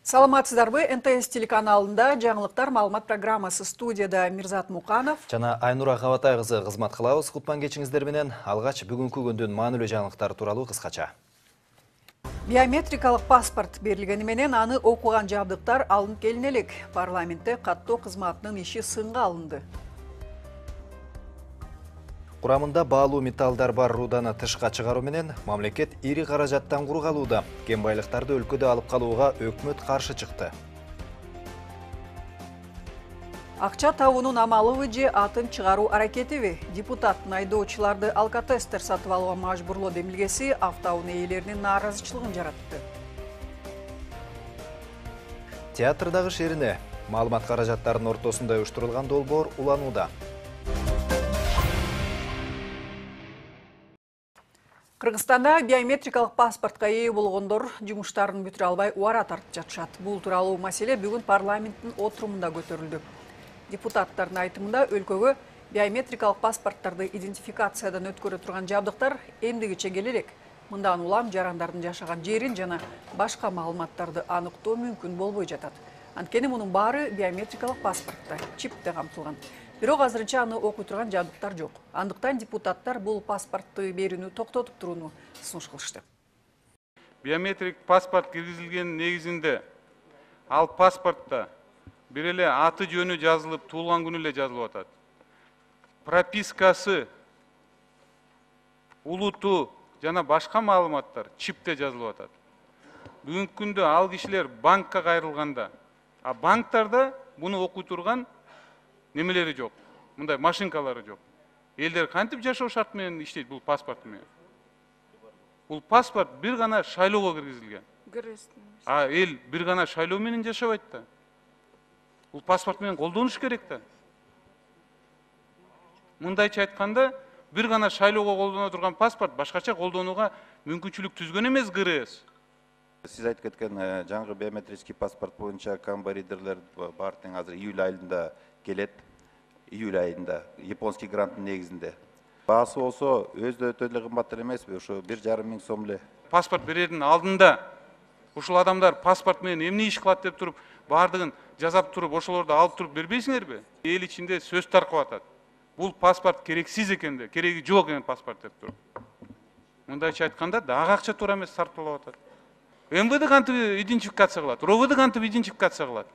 Саламатсыздарбы, НТС телеканалында жаңылыктар маалымат программасы, студияда Мирзат Муканов жана Айнура Кабатай кызы кызмат кылабыз. Кутман кечиңиздер менен алгач бүгүнкү күндүн маанилүү жаңылыктары тууралуу кыскача. Биометрикалык паспорт берилгени менен аны окуган жабдыктар алынып келине элек. Парламентте каттоо кызматынын иши сынга алынды. Курамында баалуу металлдар бар руданы тышка чыгаруу менен мамлекет ири каражаттан кургалууда. Кен байлыктарды өлкөдө алып калууга өкмөт каршы чыкты. Акча табуунун амалыбы же атын чыгаруу аракетиби? Депутаттын айдоочуларды алкотестер сатып алууга мажбурлоо демилгеси автоунаа ээлеринин нааразычылыгын жаратты. Театрдагы шерине маалымат каражаттарынын ортосунда уюштурулган долбоор уланууда. Кыргызстанда биометрикалык паспортко ээ болгондор жумуштарын бүтүрө албай убара тартып жатышат. Бул тууралуу маселе бүгүн парламенттин отурумунда көтөрүлдү. Депутаттардын айтымында өлкөгө биометрикалык паспорттарды идентификациядан өткөрө турган жабдыктар эмдигиче келе элек. Мындан улам жарандардын жашаган жерин жана башка маалыматтарды аныктоо мүмкүн болбой жатат. Анткени мунун баары биометрикалык паспортто, чипте камтылган. Бирок азырынча аны окуй турган жабдыктар жок. Андыктан депутаттар бул паспортты берүүнү токтотуп турууну сунуш кылышты. Биометрик паспорт киргизилген негизинде ал паспортто бир эле аты жөнү жазылып, туулган күнү эле жазылып атат. Пропискасы, улуту жана башка маалыматтар чипте жазылып атат. Бүгүнкү күндө ал кишилер банкка кайрылганда, а банктарда буну окуй турган немелери жок. Мындай машинкалары жок. Элдер кантип жашоо шарт менен иштейт бул паспорт менен? Бул паспорт бир гана шайлоого киргизилген. А эл бир гана шайлоо менен жашабайт да. Бул паспорт менен колдонуш керек да. Мындайча айтканда, бир гана шайлоого колдоно турган паспорт башкача колдонууга мүмкүнчүлүк түзгөн эмес ГРС. Сиз айтып кеткен жаңы биометрический паспорт боюнча камбаридерлер бар тең азыр июль айында келет. Июль айында японский гранттын негизинде. Баасы болсо өзү өтө эле кымбат эмеспи? Ошо 1,5 миң сом эле. Паспорт берердин алдында ушул адамдар паспорт менен эмне иш кылат деп туруп, бардыгын жазап туруп, ошолорду алып туруп бербейсиңерби? Эл ичинде сөз таркап атат. Бул паспорт керексиз экен, кереги жок экен паспорт деп туруп. Мындайча айтканда, дагы акча туура эмес сарпталып атат. МВД кантип идентификация кылат, РОВД кантип идентификация кылат.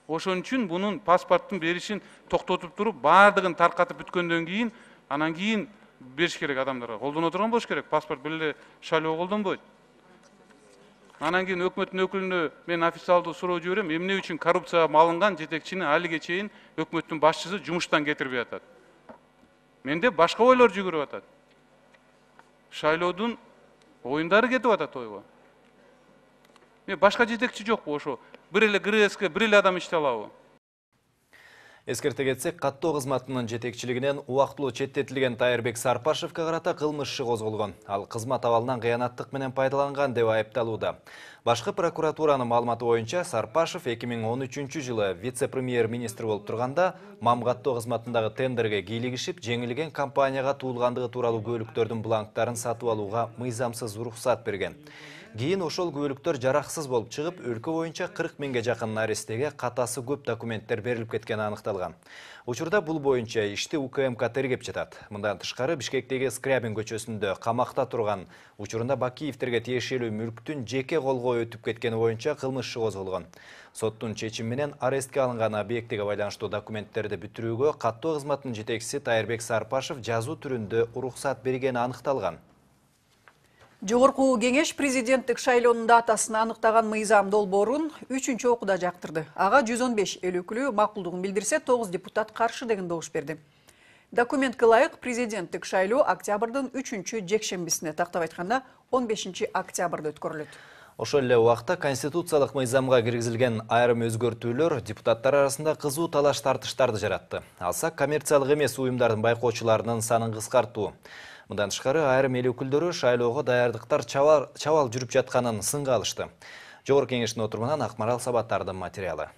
Ошон үчүн бунун паспорттун беришин токтотуп туруп, бардыгын таркатып бүткөндөн кийин, анан кийин бериш керек адамдарга. Колдоно турган болуш керек. Паспорт бир эле шайлоо колдонбойт. Анан кийин өкмөттүн өкүлүнө мен официалдуу суроо жиберем, эмне үчүн коррупцияга малынган жетекчини алиге чейин өкмөттүн башчысы жумуштан кетирбей атат. Менде башка ойлор жүгүрүп атат. Шайлоодун оюндары кетип атат ойго. Башка жетекчи жокпу ошо? Бир эле ГРСке бир эле адам иштей алабы? Эскерте кетсек, каттоо кызматынын жетекчилигинен убактылуу четтетилген Тайырбек Сарпашевке карата кылмыш иши козголгон. Ал кызмат абалынан кыянаттык менен пайдаланган деп айыпталууда. Башкы прокуратуранын маалыматы боюнча Сарпашев 2013 жылы вице-премьер-министр болуп турганда МАМ каттоо кызматындагы тендерге кийлигишип, жеңилген компанияга туулгандыгы тууралуу күбөлүктөрдүн бланктарын сатып алууга мыйзамсыз уруксат берген. Кийин ошол күбөлүктөр жараксыз болуп чыгып, өлкө боюнча 40 миңге жакын арестеге катасы көп документтер берилип кеткени аныкталган. Учурда бул боюнча ишти УКМК тергеп жатат. Мындан тышкары Бишкектеги Скрябин көчөсүндө камакта турган учурунда Бакиевтерге тиешелүү мүлктүн жеке колго өтүп кеткени боюнча кылмыш иши козголгон. Соттун чечими менен арестке алынган объектиге байланыштуу документтерди бүтүрүүгө каттоо кызматынын жетекчиси Тайырбек Сарпашев жазуу түрүндө уруксат бергени аныкталган. Жогорку кеңеш президенттик шайлоонун датасын аныктаган мыйзам долбоорун 3-чү окууда жактырды. Ага 115 эл өкүлү макулдугун билдирсе, 9 депутат каршы деген добуш берди. Документке ылайык президенттик шайлоо октябрдын 3-чү жекшембисине, тактап айтканда 15 октябрда өткөрүлөт. Ошол эле убакта конституциялык мыйзамга киргизилген айрым өзгөртүүлөр депутаттар арасында кызуу талаш тартыштарды жаратты. Алсак, коммерциялык эмес уюмдардын байкоочуларынын санын кыскартуу. Мындан тышкары айрым эл өкүлдөрү шайлоого даярдыктар чабал жүрүп жатканын сынга алышты. Жогорку кеңештин отурумунан Акмарал Сабаттардын материалы.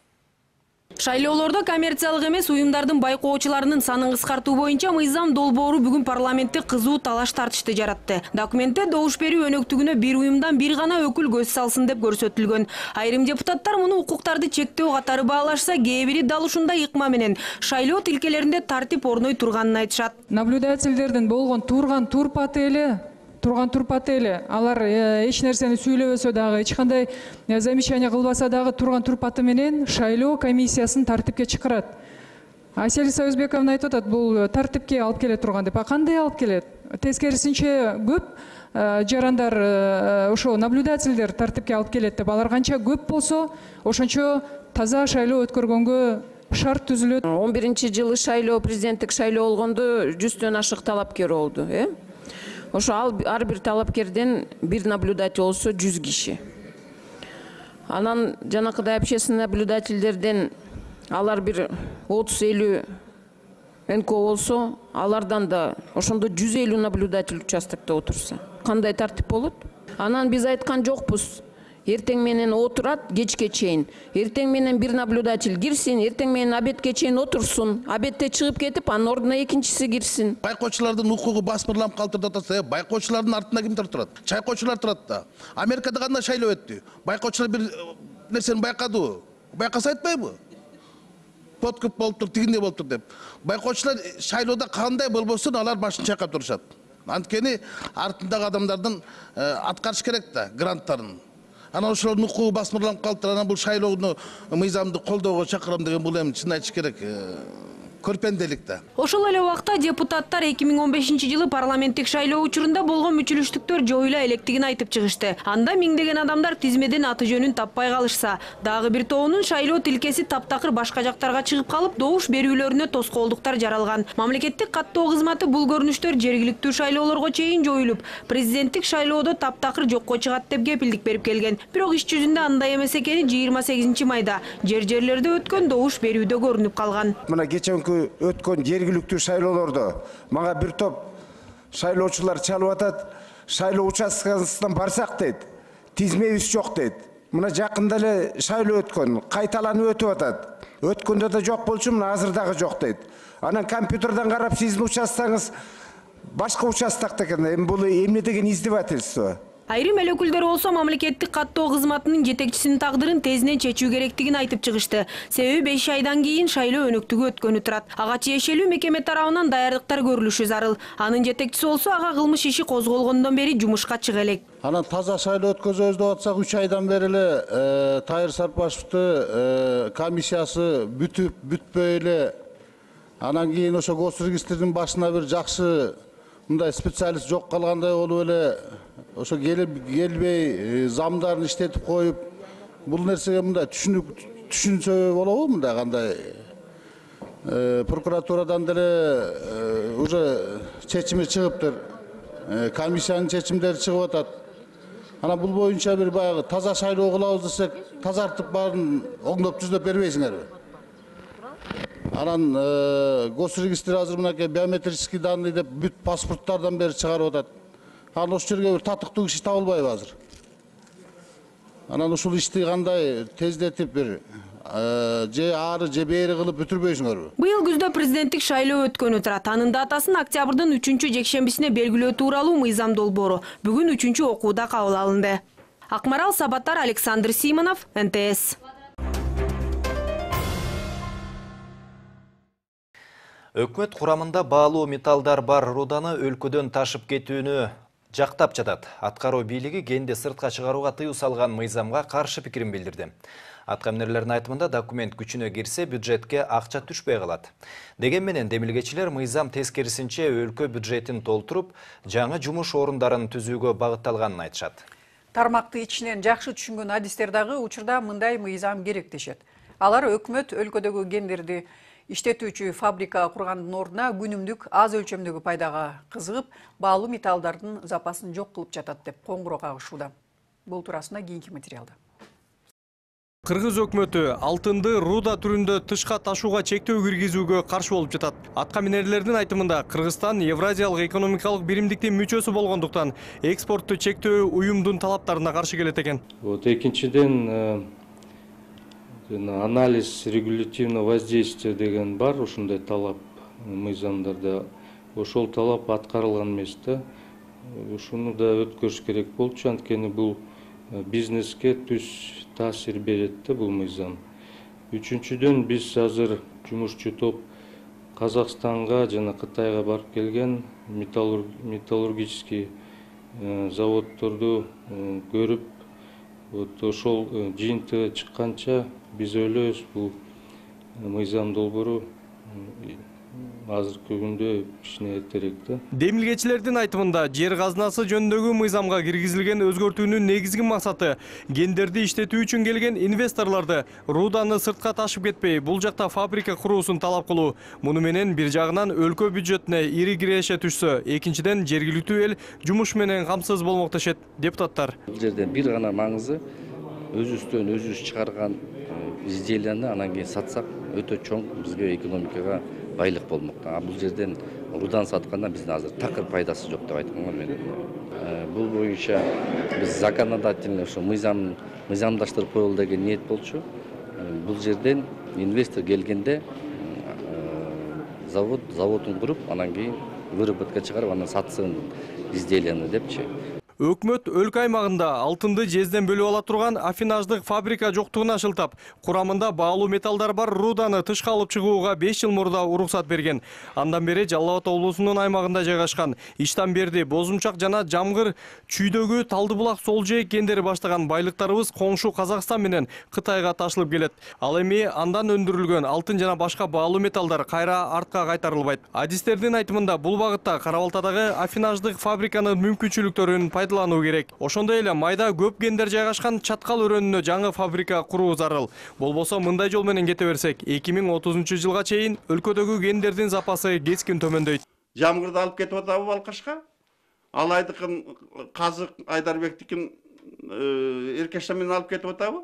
Шайлоолордо коммерциялык эмес уюмдардын байкоочуларынын санын кыскартуу боюнча мыйзам долбоору бүгүн парламентте кызуу талаш тартышты жаратты. Документте добуш берүү өнөктүгүнө бир уюмдан бир гана өкүл көз салсын деп көрсөтүлгөн. Айрым депутаттар муну укуктарды чектөө катары баалашса, кээ бири дал ушундай ыкма менен шайлоо тилкелеринде тартип орной турганын айтышат. Наблюдательдердин болгон турган турпаты эле алар эч нерсени сүйлөбөсө дагы, эч кандай замечание кылбаса дагы турган турпаты менен шайлоо комиссиясын тартипке чакырат. Аселиса Өзбековна айтып атат, бул тартипке алып келе турган деп. А кандай алып келет? Тескерисинче көп жарандар ошо наблюдательдер тартипке алып келет деп. Алар канча көп болсо, ошончо таза шайлоо өткөргөнгө шарт түзүлөт. 11-жылы шайлоо, президенттик шайлоо болгондо 100төн ашык талапкер болду, Ошо ар бир талапкерден бир наблюдатель болсо 100 киши. Анан жанакыдай общественный наблюдательдерден алар бир 30-50 НКО болсо, алардан да ошондо 150 наблюдатель участокто отурса. Кандай тартип болот? Анан биз айткан жокпуз. Эртең менен отурат, кечке чейин. Эртең менен бир наблюдатель кирсин, эртең менен обедке чейин отурсун. Обедте чыгып кетип, анын ордуна экинчиси кирсин. Байкоочулардын укугу басмырланып калтырып атат. Байкоочулардын артында кимдер турат? Чайкоочулар турат да. Америкада кандай шайлоо өттү? Байкоочулар бир нерсени байкадыбы? Байкаса айтпайбы? Подкуп болуптур, тигиндей болуптур деп. Байкоочулар шайлоодо кандай болбосун, алар башын чайкап турушат. Анткени артындагы адамдардын аткарыш керек да, гранттарын. Анан ошолордун укугу басмырланып калыптыр. Анан бул шайлоону мыйзамды колдоого чакырам деген бул эми чын айтыш керек. Көрпенделик да. Ошол эле убакта депутаттар 2015-жылы парламенттик шайлоо учурунда болгон мүчүлүштүктөр жоюла электигин айтып чыгышты. Анда миңдеген адамдар тизмеден аты жөнүн таппай калышса, дагы бир тобунун шайлоо тилкеси таптакыр башка жактарга чыгып калып, добуш берүүлөрүнө тоскоолдуктар жаралган. Мамлекеттик каттоо кызматы бул көрүнүштөр жергиликтүү шайлоолорго чейин жоюлуп, президенттик шайлоодо таптакыр жокко чыгат деп кепилдик берип келген. Бирок иш жүзүндө андай эмес экени 28 майда жерлерде өткөн добуш берүүдө көрүнүп калган. Мына өткөн жергиликтүү шайлоолордо мага бир топ шайлоочулар чалып атат, шайлоо участкасынан барсак дейт, тизмебиз жок дейт. Мына жакында эле шайлоо өткөн, кайталанып өтүп атат. Өткөндө да жок болчу, мына азыр дагы жок дейт. Анан компьютерден карап сиздин участкаңыз башка участокто экен. Эми бул эмне деген издевательство? Айрым эл өкүлдөр болсо мамлекеттик каттоо кызматынын жетекчисинин тагдырын тезинен чечүү керектигин айтып чыгышты. Себеби 5 айдан кийин шайлоо өнөктүгү өткөнү турат. Ага тиешелүү мекеме тарабынан даярдыктар көрүлүшү зарыл. Анын жетекчиси болсо ага кылмыш иши козголгондон бери жумушка чыга элек. Анан таза шайлоо өткөзөбүз деп атсак 3 айдан бери эле Тайыр Сарпашевди комиссиясы бүтпөй эле. Анан кийин ошо госрегистрдин башына бир жакшы мындай специалист жок калгандай болуп эле ошо келбей замдарын иштетип коюп, бул нерсеге мындай түшүнсө болобу? Мындай кандай прокуратурадан деле уже чечими чыгыптыр, комиссиянын чечимдери чыгып атат. Анан бул боюнча бир баягы таза шайлоо кылабыз десек, тазартып баарын оңдоп түзөп бербейсиңерби? Анан госрегистр азыр мынакей биометрический данные деп бүт паспорттардан бери чыгарып атат. Анан ошол жерге бир татыктуу киши табылбайбы азыр? Анан ушул ишти кандай тездетип бир же ары же бери кылып бүтүрбөйсүңөрбү? Быйыл күздө президенттик шайлоо өткөнү турат. Анын датасын октябрдын 3-жекшембисине белгилөө тууралуу мыйзам долбоору бүгүн 3-окууда кабыл алынды. Акмарал Сабаттар, Александр Симонов, НТС. Өкмөт курамында баалуу металлдар бар руданы өлкөдөн ташып кетүүнү жактап жатат. Аткаруу бийлиги кенди сыртка чыгарууга тыюу салган мыйзамга каршы пикирин билдирди. Атка эмнелердин айтымында документ күчүнө кирсе бюджетке акча түшпөй калат. Деген менен демилгечилер мыйзам тескерисинче өлкө бюджетин толтуруп, жаңы жумуш орундарын түзүүгө багытталганын айтышат. Тармакты ичинен жакшы түшүнгөн адистер дагы учурда мындай мыйзам керек дешет. Алар өкмөт өлкөдөгү кендерди иштетүүчү фабрика кургандын ордуна күнүмдүк аз өлчөмдөгү пайдага кызыгып, баалуу металлдардын запасын жок кылып жатат деп коңгуроо кагышууда. Бул туурасында кийинки материалда. Кыргыз өкмөтү алтынды руда түрүндө тышка ташууга чектөө киргизүүгө каршы болуп жатат. Атка минерлердин айтымында Кыргызстан Евразиялык экономикалык биримдиктин мүчөсү болгондуктан экспортту чектөө уюмдун талаптарына каршы келет экен. Экинчиден Анализ регулятивного воздействия деген бар, ушундай талап мыйзамдарда. Ошол талап аткарылган эмес да. Ушуну да өткөрүш керек болчу, анткени бул бизнеске түз таасир берет да бул мыйзам. Үчүнчүдөн биз азыр жумушчу топ Казакстанга жана Кытайга барып келген металлургический заводдорду көрүп, ошол жыйынтыгы чыкканча биз ойлойбуз бул мыйзам долбоору азыркы күндө кичине эртерээк да. Демилгечилердин айтымында жер казынасы жөнүндөгү мыйзамга киргизилген өзгөртүүнүн негизги максаты гендерди иштетүү үчүн келген инвесторлорду руданы сыртка ташып кетпей, бул жакта фабрика куруусун талап кылуу. Муну менен бир жагынан өлкө бюджетине ири киреше түшсө, экинчиден жергиликтүү эл жумуш менен камсыз болмок дешет депутаттар. Бул жерден бир гана маңызы өзүбүздөн өзүбүз чыгарган изделияны анан кийин сатсак өтө чоң бизге экономикага байлык болмок. Бул жерден рудан сатканда биздин азыр такыр пайдасы жок деп айтканга мен. Бул боюнча биз законодательный ошо мыйзамдаштырып коелу деген ниет болчу. Бул жерден инвестор келгенде заводун куруп, анан кийин выработка чыгарып, анан сатсын изделияны депчи. Өкмөт өлкө аймагында алтынды жезден бөлүп ала турган афинаждык фабрика жоктугуна шылтап, курамында баалуу металлдар бар руданы тышка алып чыгууга 5 жыл мурда уруксат берген. Андан бери Жалал Абад облусунун аймагында жайгашкан Иштан Берди, Бозумчак жана Жамгыр чүйдөгү Талды булак сол жээк кендери баштаган байлыктарыбыз коңшу Казакстан менен Кытайга ташылып келет. Ал эми андан өндүрүлгөн алтын жана башка баалуу металлдар кайра артка кайтарылбайт. Адистердин айтымында бул багытта Кара-Балтадагы афинаждык фабриканын мүмкүнчүлүктөрүн пайдалануу керек. Ошондой эле майда көп гендер жайгашкан Чаткал өрөөнүнө жаңы фабрика куруу зарыл. Болбосо мындай жол менен кете берсек, 2030-жылга чейин өлкөдөгү гендердин запасы кескин төмөндөйт. Жамгырды алып кетип атабы Балкашка? Алайдыкын Казык Айдарбектикин Эркештан менен алып кетип атабы?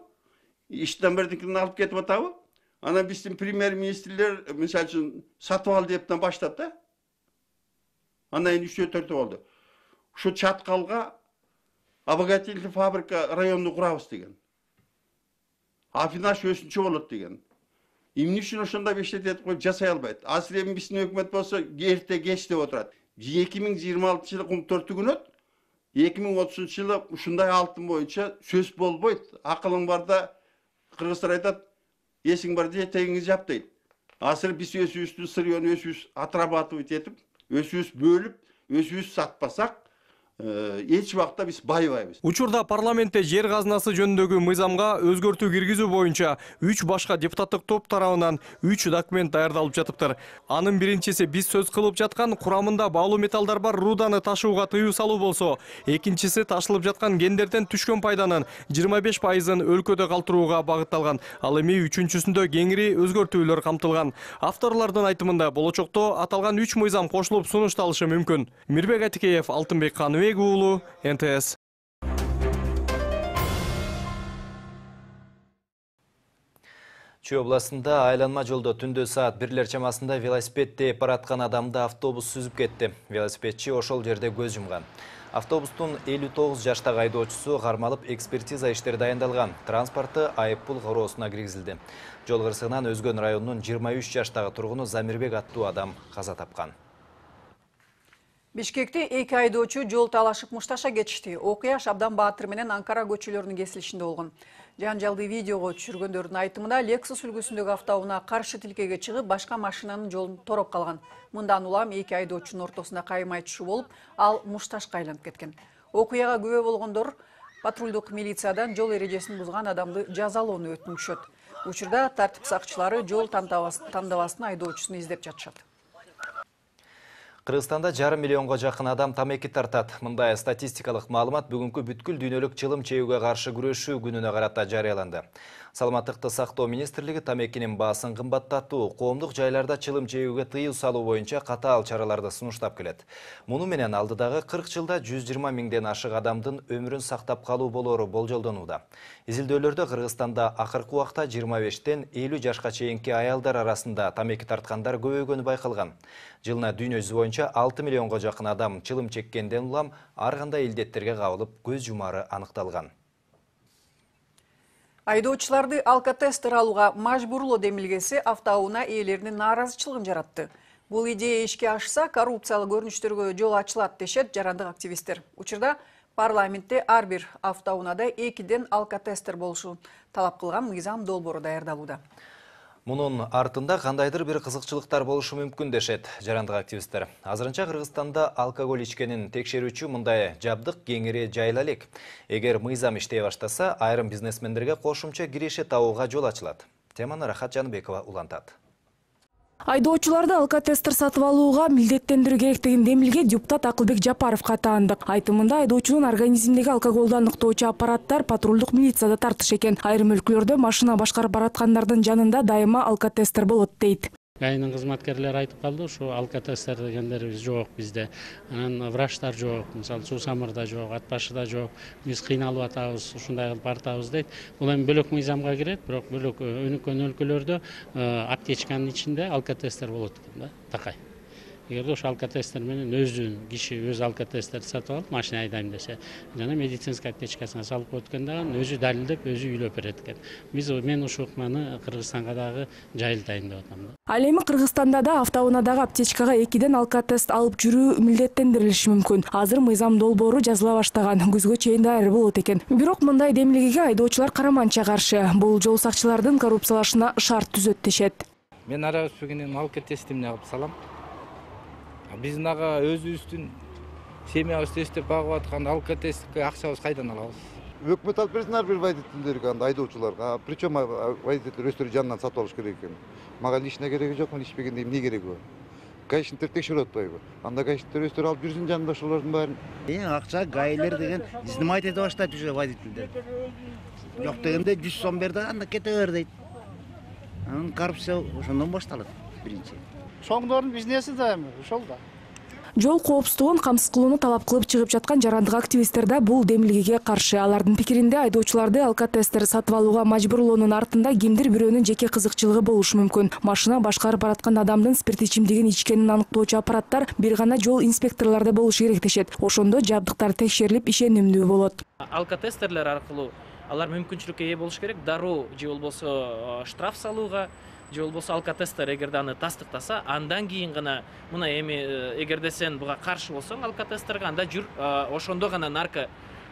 Иштан Бердикин алып кетип атабы? Анан биздин премьер-министрлер мисалы үчүн сатып ал дептен баштап да. Андан кийин 3-4 болду. Şu Çatkalga обогатительный фабрика районunu kurabız degen. Afinaş өсүнчө болот деген. Эмне үчүн ошондой бештет этип коюп жасай албайт? Азыр эми биздин өкмөт болсо эрте кеч деп отурат. 2026-жылы 4-күнөт, 2030-жылы ушундай алтын боюнча сөз болбойт. Акылың барда кыргыздар айтат, эсиң бар же тегиңиз жап дейт. Азыр биз өзүбүздүн сырьёну өзүбүз отрабатывать этип, өзүбүз бөлүп, өзүбүз сатпасак, эч убакта биз байыбайбыз. Учурда парламентте жер казынасы жөнүндөгү мыйзамга өзгөртүү киргизүү боюнча 3 башка депутаттык топ тарабынан 3 документ даярдалып жатыптыр. Анын биринчиси биз сөз кылып жаткан курамында баалуу металлдар бар руданы ташууга тыюу салуу болсо, экинчиси ташылып жаткан гендерден түшкөн пайданын 25%-ын өлкөдө калтырууга багытталган. Ал эми үчүнчүсүндө кеңири өзгөртүүлөр камтылган. Авторлордун айтымында болочокто аталган 3 мыйзам кошулуп сунушталышы мүмкүн. Мирбек Атикеев, Алтынбек Каныбек уулу, НТС. Чүй областында айланма жолдо түндө саат 1 чамасында велосипед тээп бараткан адамды автобус сүзүп кетти. Велосипедчи ошол жерде көз жумган. Автобустун 59 жаштагы айдоочусу кармалып экспертиза иштери дайындалган. Транспорты айыппул короосуна киргизилди. Жол кырсыгынан Өзгөн районунун 23 жаштагы тургуну Замирбек аттуу адам каза тапкан. Бишкекте 2 айдоочу жол талашып мушташа кетишти. Окуя Шабдан Баатыр менен Анкара көчөлөрүнүн кесилишинде болгон. Жанжалды видеого түшүргөндөрдүн айтымында Lexus үлгүсүндөгү автоунаа каршы тилкеге чыгып, башка машинанын жолун тороп калган. Мындан улам 2 айдоочунун ортосунда каймай түшүү болуп, ал мушташка айланып кеткен. Окуяга күбө болгондор патрулдук милициядан жол эрежесин бузган адамды жазалоону өтүнүшөт. Учурда тартип сакчылары жол тандабастын айдоочусун издеп жатышат. Кыргызстанда 5,5 миллионго жакын адам тамеки тартат. Мындай статистикалык маалымат бүгүнкү бүткүл дүйнөлүк чылым чегүүгө каршы күрөшүү күнүнө карата жарыяланды. Саламаттыкты сактоо министрлиги тамекинин баасын кымбаттатуу, коомдук жайларда чылым чегүүгө тыюу салуу боюнча катаал чараларды сунуштап келет. Муну менен алдыдагы 40 жылда 120 миңден ашык адамдын өмүрүн сактап калуу болору болжолдонууда. Изилдөөлөрдө Кыргызстанда акыркы убакта 25-тен 50 жашка чейинки аялдар арасында тамеки тарткандар көбөйгөнү байкалган. Жылына дүйнө жүзү боюнча 6 миллионго жакын адам чылым чеккенден улам ар кандай илдеттерге кабылып көз жумары аныкталган. Айдоочуларды алкотестер алууга мажбурлоо демилгеси автоунаа ээлеринин нааразычылыгын жаратты. Бул идея ишке ашса, коррупциялык көрүнүштөргө жол ачылат дешет жарандык активисттер. Учурда парламентте ар бир автоунаада 2ден алкотестер болушун талап кылган мыйзам долбоору даярдалууда. Мунун артында кандайдыр бир кызыкчылыктар болушу мүмкүн дешет жарандык активисттер. Азырынча Кыргызстанда алкоголь ичкенин текшерүүчү мындай жабдык кеңири жайыла элек. Эгер мыйзам иштей баштаса, айрым бизнесмендерге кошумча киреше табууга жол ачылат. Теманы Рахат Жаныбекова улантат. Айдоочуларды алкотестер сатып алууга милдеттендирүү керектигин демилге депутат Акылбек Жапаровго таандык. Айтымында айдоочунун организминдеги алкоголду аныктоочу аппараттар патрулдук милицияда тартыш экен. Айрым өлкөлөрдө машина башкарып бараткандардын жанында дайыма алкотестер болот дейт. ГАИнин кызматкерлери айтып калды, ушу алкотестер дегендер жок бизде. Анан врачтар жок, мисалы Суу-Самырда жок, Ат башыда жок. Биз кыйналып атабыз, ушундай кылып баратабыз дейт. Бул эми бөлөк мыйзамга кирет, бирок бөлөк өнүккөн өлкөлөрдө аптечканын ичинде алкотестер болот экен да, такай. Эгерде ошо алкотестер менен киши өз алкотестерди сатып алып машина айдайм десе, жана медицинский аптечкасына салып коет экен дагы, өзү далилдеп, өзү үйлөп берет экен. Мен ушул ыкманы Кыргызстанга дагы жайылтайын деп атам да. Ал эми Кыргызстанда да автоунаадагы аптечкага 2ден алкотест алып жүрүү милдеттендирилиши мүмкүн. Азыр мыйзам долбоору жазыла баштаган, күзгө чейин даяр болот экен. Бирок мындай демилгеге айдоочулар караманча каршы. Бул жол сакчылардын коррупциялашына шарт түзөт дешет. Мен ара өспөгөндөн алкотестимди алып салам. Биздин ага өзүбүздүн семьябызды эстеп багып аткан алкотестке акчабыз кайдан алабыз? Өкмөт алып берсин ар бир водительдерге, айдоочуларга. Причем водительдер өздөрү жанынан сатып алыш керек экен. Мага личный кереги жок, мен ичпегенде эмне кереги бар? Гаишниктер текшерип атпайбы? Анда гаишниктер өздөрү алып жүрсүн жанында ошолордун баарын. Акча гаилер деген изнимать эте баштайт уже водительдер. Жок дегенде 100 сом бер да, анда кете бер дейт. Анан коррупция ошондон башталат биринчи. Чоңдордун бизнеси да эми ошол да. Жол коопсуздугун камсыз кылууну талап кылып чыгып жаткан жарандык активисттер да бул демилгеге каршы. Алардын пикиринде айдоочуларды алкотестер сатып алууга мажбурлоонун артында кимдир бирөөнүн жеке кызыкчылыгы болушу мүмкүн. Машина башкарып бараткан адамдын спирт ичимдигин ичкенин аныктоочу аппараттар бир гана жол инспекторлордо болушу керек дешет. Ошондо жабдыктар текшерилип ишенимдүү болот. Алкотестерлер аркылуу алар мүмкүнчүлүккө ээ болуш керек, дароо же болбосо штраф салууга, же болбосо алкотестер эгерде аны тастыктаса, андан кийин гана мына эми эгерде сен буга каршы болсоң алкотестерге, анда жүр, ошондо гана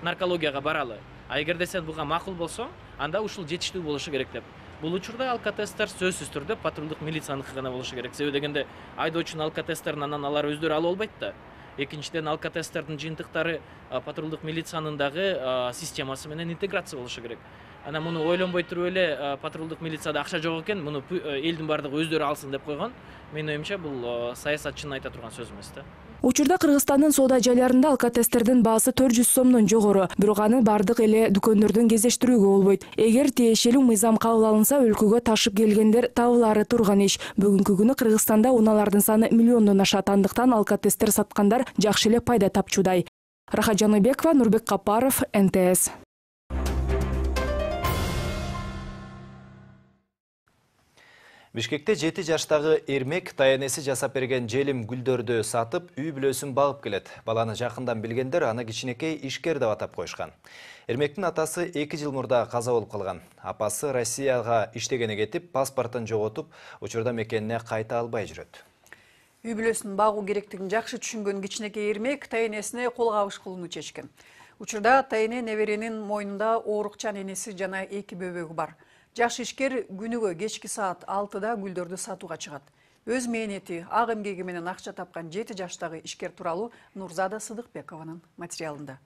наркологияга баралы. А эгерде сен буга макул болсоң, анда ушул жетиштүү болушу керек деп. Бул учурда алкотестер сөзсүз түрдө патрулдук милицияныкы гана болушу керек. Себеби дегенде айдоочунун алкотестерин анан алар өздөрү ала албайт да. Экинчиден алкотестердин жыйынтыктары патрулдук милициянын дагы системасы менен интеграция болушу керек. Ана муну ойлонбой туруп эле патрулдук милицияда акча жок экен, муну элдин бардыгы өздөрү алсын деп койгон. Менин оюмча бул саясатчынын айта турган сөзү эмес да. Учурда Кыргызстандын соода жайларында алкотестердин баасы 400 сомдон жогору, бирок аны бардык эле дүкөндөрдөн кездештирүүгө болбойт. Эгер тиешелүү мыйзам кабыл алынса, өлкөгө ташып келгендер табылары турган иш. Бүгүнкү күнү Кыргызстанда унаалардын саны миллиондон ашат, андыктан алкотестер саткандар жакшы эле пайда тапчудай. Рахат Жаныбекова, Нурбек Капаров, НТС. Бишкекте 7 жаштагы эрмек таянеси жасап берген желим гүлдөрдү сатып, үй бүлөсүн багып келет. Баланы жакындан билгендер аны кичинекей ишкер деп атап коюшкан. Эрмектин атасы 2 жыл мурда каза болуп калган. Апасы Россияга иштегени кетип, паспортун жоготуп, учурда мекенине кайта албай жүрөт. Үй бүлөсүн багуу керектигин жакшы түшүнгөн кичинекей эрмек таянесине кол кабыш кылууну чечкен. Учурда таяне неберенин мойнунда оорукчан энеси жана 2 бөбөгү бар. Жаш ишкер күнүгө кечки саат 6-да гүлдөрдү сатууга чыгат. Өз мээнети, ак эмгеги менен акча тапкан 7 жаштагы ишкер тууралуу Нурзада Сыдыкбекованын материалында.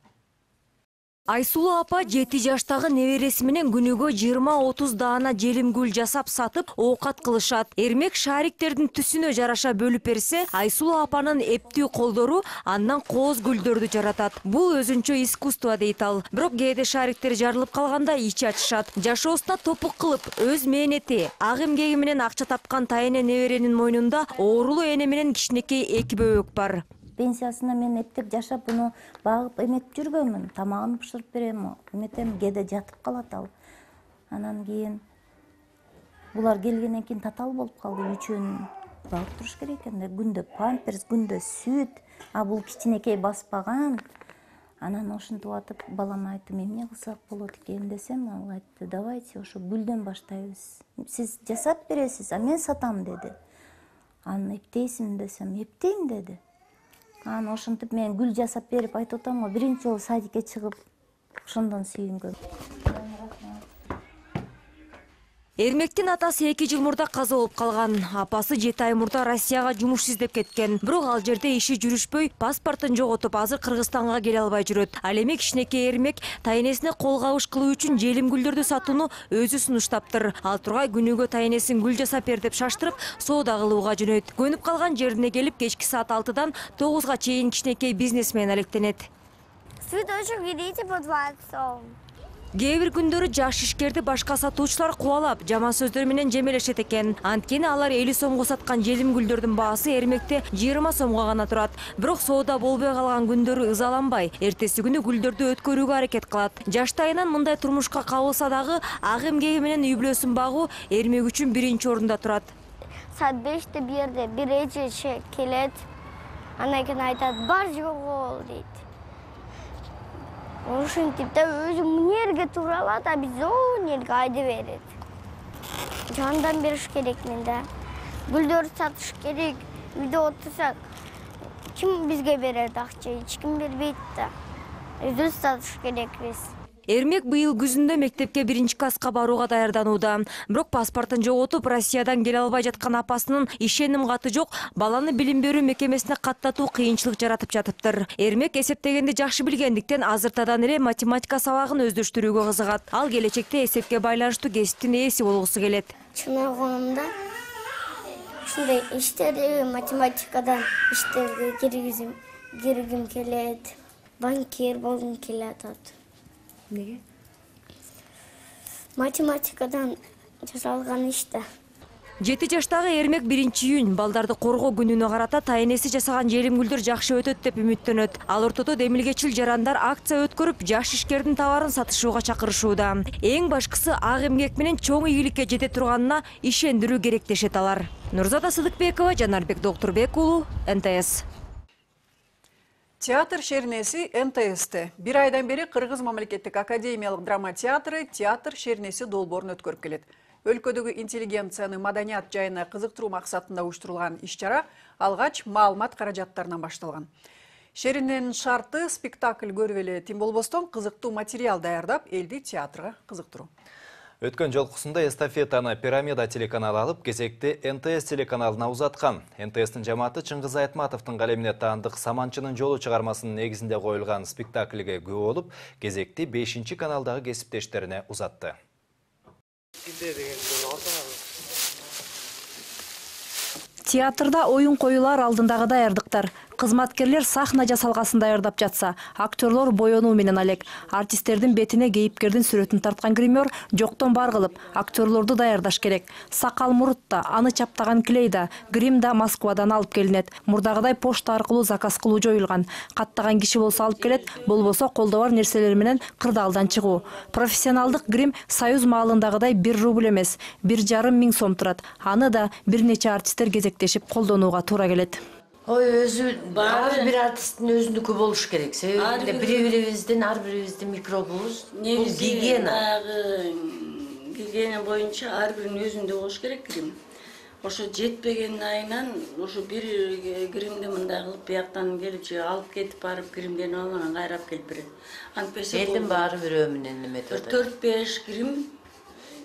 Айсулуу апа 7 жаштагы небереси менен күнүгө 20-30 даана желим гүл жасап сатып оокат кылышат. Эрмек шариктердин түсүнө жараша бөлүп берсе, Айсулуу апанын эптүү колдору андан кооз гүлдөрдү жаратат. Бул өзүнчө искусство дейт ал. Бирок кээде шариктер жарылып калганда ич ачышат. Жашоосуна топук кылып, өз мээнети, ак эмгеги менен акча тапкан таяне неберенин мойнунда оорулуу эне менен кичинекей 2 бөбөк бар. Пенсиясына мен эптеп жашап, буну багып эметип жүргөнмүн. Тамагын бышырып берем, эметем, кээде жатып калат ал. Анан кийин булар келгенден кийин татаал болуп калды. Үчөөнүн багып туруш керек экен да. Күндө памперс, күндө сүт, а бул кичинекей баспаган. Анан ошентип атып балама айттым, эмне кылсак болот экен десем, ал айтты, давайте ошо гүлдөн баштайбыз. Сиз жасап бересиз, а мен сатам деди. Аны эптейсиңби десем, эптейм деди. Анан ошентип мен гүл жасап берип айтып атам го, биринчи жолу садикке чыгып, ошондон сүйүнгөм. Эрмектин атасы 2 жыл мурда каза болуп калган. Апасы 7 ай мурда Россияга жумуш издеп кеткен. Бирок ал жерде иши жүрүшпөй, паспортун жоготуп, азыр Кыргызстанга келе албай жүрөт. Ал эми кичинекей Эрмек тайнесине кол кабыш кылуу үчүн желим гүлдөрдү сатууну өзү сунуштаптыр. Ал тургай күнүгө тайнесин гүл жасап бер деп шаштырып, соода кылууга жөнөйт. Көнүп калган жерине келип, кечки саат 6-дан 9-га чейин кичинекей бизнесмен алектенет. Цветочек берите по 20 сом. Кээ бир күндөрү жаш ишкерди башка сатуучулар кубалап, жаман сөздөр менен жемелешет экен. Анткени алар 50 сомго саткан желим гүлдөрдүн баасы Эрмекте 20 сомго гана турат. Бирок соода болбой калган күндөрү ызаланбай, эртеси күнү гүлдөрдү өткөрүүгө аракет кылат. Жаштайынан мындай турмушка кабылса дагы, ак эмгеги менен үй бүлөсүн багуу Эрмек үчүн биринчи орунда турат. Саат 5-те бирде бир эже келет. Андан кийин айтат, бар жогол дейт. Ошентип да өзү мунерге туралат, а биз онерге айдап берет. Жандан бериш керек менде. Гүлдөр сатыш керек. Үйдө отурсак, ким бизге берет акча? Эч ким бербейт да. Өзүбүз сатыш керекпиз. Эрмек быйыл күзүндө мектепке 1-класска барууга даярданууда. Бирок паспортун жоготуп, Россиядан келе албай жаткан апасынын ишеним каты жок, баланы билим берүү мекемесине каттатуу кыйынчылык жаратып жатыптыр. Эрмек эсептегенди жакшы билгендиктен азыртадан эле математика сабагын өздөштүрүүгө кызыгат. Ал келечекте эсепке байланыштуу кесиптин ээси болгусу келет. Чын ойгонумда ушундай иштерди математикадан иштерге киргим келет. Банкир болгум келет. Неге? Математикадан жасалган иште. 7 жаштагы Эрмек 1-июнь балдарды коргоо күнүнө карата тайнеси жасаган желим гүлдөр жакшы өтөт деп үмүттөнөт. Ал ортодо демилгечил жарандар акция өткөрүп, жаш ишкердин товарын сатышууга чакырышууда. Эң башкысы ак эмгек менен чоң ийгиликке жете турганына ишендирүү керек дешет алар. Нурзада Сыдыкбекова, Жанарбек Докторбек уулу, НТС. Театр шернеси НТС'те. Бир айдан бери Кыргыз мамлекеттик академиялык драма театры театр шернеси долбоорун өткөрүп келет. Өлкөдөгү интеллигенцияны маданият жайына кызыктыруу максатында уюштурулган иш-чара алгач маалымат каражаттарынан башталган. Шеринин шарты спектакль көрүп эле тим болбостон кызыктуу материал даярдап, элди театрга кызыктыруу. Өткөн жолкусунда эстафетаны Пирамида телеканалы алып, кезекти НТС телеканалына узаткан. НТС'тин жамааты Чыңгыз Айтматовдун калемине таандык Саманчынын жолу чыгармасынын негизинде коюлган спектакльге күбө болуп, кезекти 5-каналдагы кесиптештерине узатты. Театрда оюн коюлар алдындагы даярдыктар. Кызматкерлер сахна жасалгасын даярдап жатса, актерлор боёнуу менен алек. Артисттердин бетине кейипкердин сүрөтүн тарткан гример жоктон бар кылып, актерлорду даярдаш керек. Сакал мурут да, аны чаптаган клей да, грим да Москвадан алып келинет. Мурдагыдай почта аркылуу заказ кылуу жоюлган. Каттаган киши болсо алып келет, болбосо колдо бар нерселер менен кырдаалдан чыгуу. Профессионалдык грим Союз маалындагыдай 1 рубль эмес, 1,5 миң сом турат. Аны да бир нече артисттер кезектешип колдонууга туура келет. Ой, ар бир артисттин өзүнүкү болуш керек. Себеби бири-бирибиздин ар бирибиздин микробубуз. Бул гигиена. Гигиена боюнча ар биринин өзүндө болуш керек грим. Ошо жетпеген айынан ошо бир гримди мындай кылып бияктан келип же алып кетип барып гримденип алып анан кайрап келип берет. Антпесе элдин баары бирөө менен эметип атат. 4-5 грим.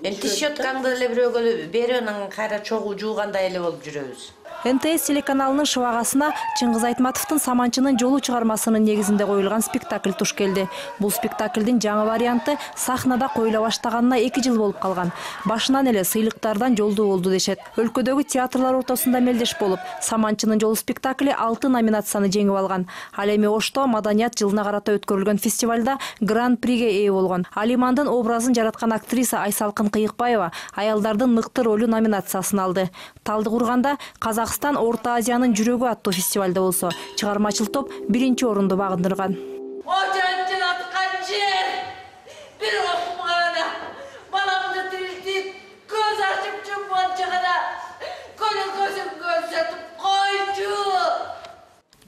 Эми щеткаңды эле бирөөгө берип анан кайра чогуу жуугандай эле болуп жүрөбүз. НТС телеканалынын шыбагасына Чыңгыз Айтматовдун Саманчынын жолу чыгармасынын негизинде коюлган спектакль туш келди. Бул спектаклдин жаңы варианты сахнада коюла баштаганына 2 жыл болуп калган. Башынан эле сыйлыктардан жолдуу болду дешет. Өлкөдөгү театрлар ортосунда мелдеш болуп, Саманчынын жолу спектакли 6 номинацияны жеңип алган. Ал эми Ошто маданият жылына карата өткөрүлгөн фестивалда гран-приге ээ болгон. Алимандын образын жараткан актриса Айсалкын Кыйыкбаева аялдардын мыкты ролу номинациясын алды. Талдыкурганда Казакстан Орто Азиянын жүрөгү аттуу фестивалда болсо, чыгармачыл топ 1-чи орунду багындырган. Ожанчылаткан жер, бир окумагана, баламды тирилтип, көз ачып жумганча гана, көлөкөзүн көрсөтүп койчу.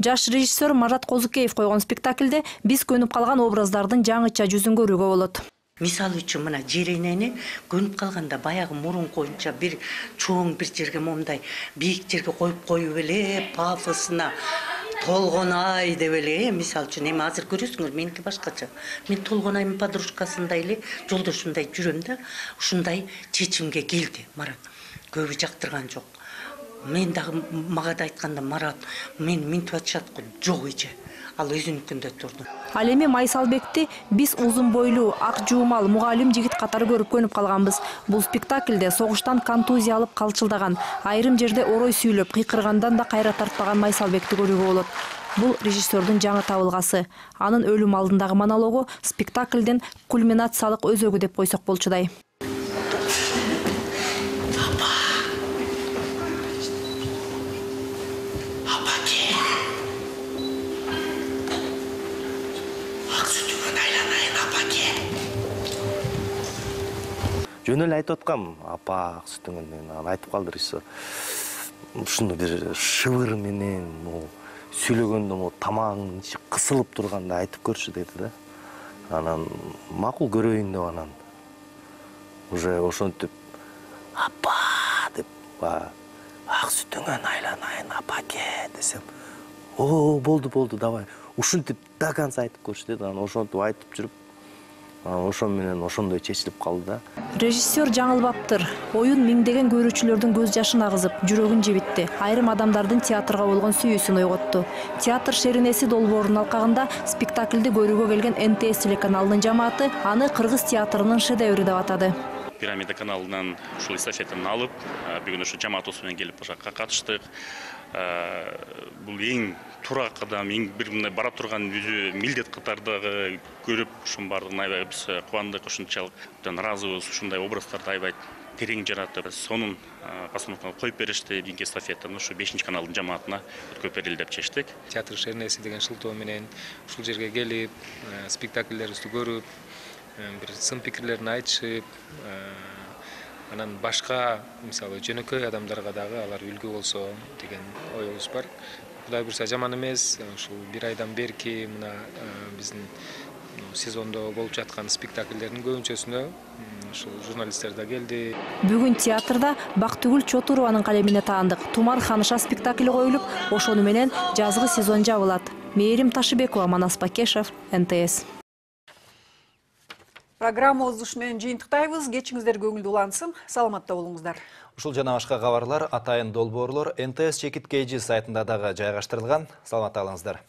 Жаш режиссер Марат Козукеев койгон спектаклде биз көнүп калган образдардын жаңыча жүзүн көрүүгө болот. Мисалы үчүн мына жеренени көнүп калганда баягы мурун коюнча бир чоң бир жерге момундай бийик жерге коюп эле пафосуна толгонай деп эле, мисалы үчүн эми азыр көрөсүңөр меники башкача. Мен толгонайдын подружкасындай эле жолдошумдай жүрөм да, ушундай чечимге келди Марат. Көбү жактырган жок. Мен дагы мага да айтканда Марат, мен минтип атышат го, жок эже. Ал өзүнүкүндө турду. Ал эми Майсалбекти биз узун бойлуу, ак жуумал мугалим жигит катары көрүп көнүп калганбыз. Бул спектаклде согуштан контузия алып калчылдаган, айрым жерде орой сүйлөп, кыйкыргандан да кайра тартпаган Майсалбекти көрүүгө болот. Бул режиссердун жаңы табылгасы. Анын өлүм алдындагы монологу спектаклдин кульминациялык өзөгү деп койсок болчудай. Жөн эле айтып аткам, апа ак сүтүңөн айтып калды режиссер. Ушуну бир шыбыр менен, сүйлөгөндө тамагың ичи кысылып турганда айтып көрчү деди да. Анан макул көрөйүн деп анан уже ошентип апа деп ак сүтүңөн айланайын апаке десем, о болду давай. Ушинтип до конца айтып көрчү деди. Анан ошентип айтып жүрүп ошон менен ошондой чечилип калды да. Режиссер жаңылбаптыр. Оюн миңдеген көрүүчүлөрдүн көз жашын агызып, жүрөгүн жебитти. Айрым адамдардын театрга болгон сүйүүсүн ойготту. Театр шеренеси долбоорунун алкагында спектаклди көрүүгө келген НТС телеканалынын жамааты аны кыргыз театрынын шедеври деп атады. Пирамида каналынан ушул эстафетаны алып, бүгүн ушу жамаатыбыз менен келип ошо катыштык. Бул эң туура кадам, эң бир мындай бара турган өзү милдет катардагы көрүп, ушунун баардыгын аябай биз кубандык, ушунчалык ыраазыбыз, ушундай образдарды аябай терең жаратып, сонун постановканы коюп беришти. Кийинки эстафетаны ушу 5-каналдын жамаатына өткөрүп берели деп чечтик. Театр шеренеси деген шылтоо менен ушул жерге келип, спектакльдерибизди көрүп, бир сын пикирлерин айтышып, анан башка мисалы жөнөкөй адамдарга дагы алар үлгү болсо деген оюбуз бар. Кудай буйрса жаман эмес, ушул бир айдан берки мына биздин сезондо болуп жаткан спектакльдердин көбүнчөсүнө ушул журналисттер да келди. Бүгүн театрда Бактыгүл Чотурованын калемине таандык Тумар ханыша спектакли коюлуп, ошону менен жазгы сезон жабылат. Мээрим Ташыбекова, Манас Бакешев, НТС. Программабызды ушу менен жыйынтыктайбыз. Кечиңиздер көңүлдүү улансын. Саламатта болуңуздар. Ушул жана башка кабарлар атайын долбоорлор НТС Чекит KG сайтында дагы жайгаштырылган. Саламатта калыңыздар.